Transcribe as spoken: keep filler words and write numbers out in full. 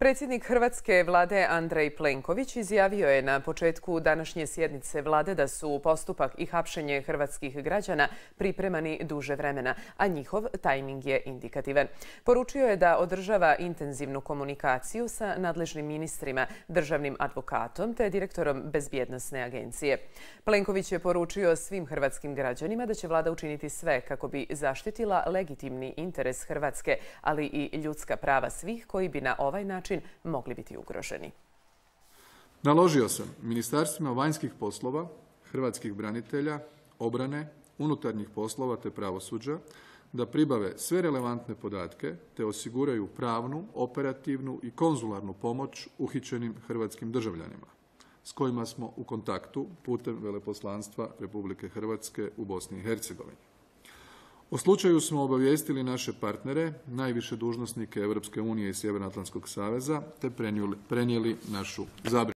Predsjednik hrvatske vlade Andrej Plenković izjavio je na početku današnje sjednice vlade da su postupak i hapšenje hrvatskih građana pripremani duže vremena, a njihov tajming je indikativan. Poručio je da održava intenzivnu komunikaciju sa nadležnim ministrima, državnim advokatom te direktorom Bezbjednosne agencije. Plenković je poručio svim hrvatskim građanima da će vlada učiniti sve kako bi zaštitila legitimni interes Hrvatske, ali i ljudska prava svih koji bi na ovaj način mogli biti ugroženi. Naložio sam ministarstvima vanjskih poslova, hrvatskih branitelja, obrane, unutarnjih poslova te pravosuđa da pribave sve relevantne podatke te osiguraju pravnu, operativnu i konzularnu pomoć uhićenim hrvatskim državljanima s kojima smo u kontaktu putem veleposlanstva Republike Hrvatske u Bosni i Hercegovini. O slučaju smo obavijestili naše partnere, najviše dužnosnike Europske unije i Sjevernoatlantskog saveza, te prenijeli našu zabrinutost.